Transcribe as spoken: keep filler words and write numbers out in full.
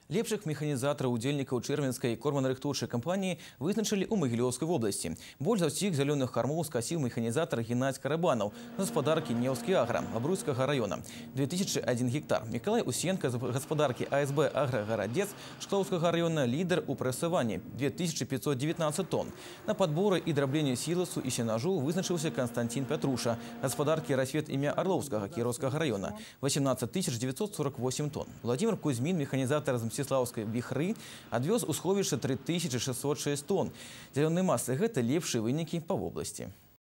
Лепшых механізатараў удзельнікаў чэрвеньскай корманарыхтоўчай кампаніі вызначылі ў Магілёўскай вобласці. Больш за ўсіх зялёных кармоў скасіў механізатар Геннадзь Карабанаў з гаспадаркі Неўскі агра Абруйскага района две тысячи один гектар. Мікалай Усенка з гаспадаркі АСБ Аграгарадзец Шклоўскага района лідар у прэсаванні две тысячи пятьсот девятнадцать тонн. На падборы і драбленне сіласу і сенажу вызначыўся Константин Пятруша гаспадаркі Расвет імя Орловскага Кіроўскага района восемнадцать тысяч девятьсот сорок восемь тонн. Владимир Кузьмин, механизатор из Мстиславской Вихры, адвёз у сховішча три тысячи шестьсот шесть тонн. Зялёнай масы – гэта лепшыя вынікі па вобласці.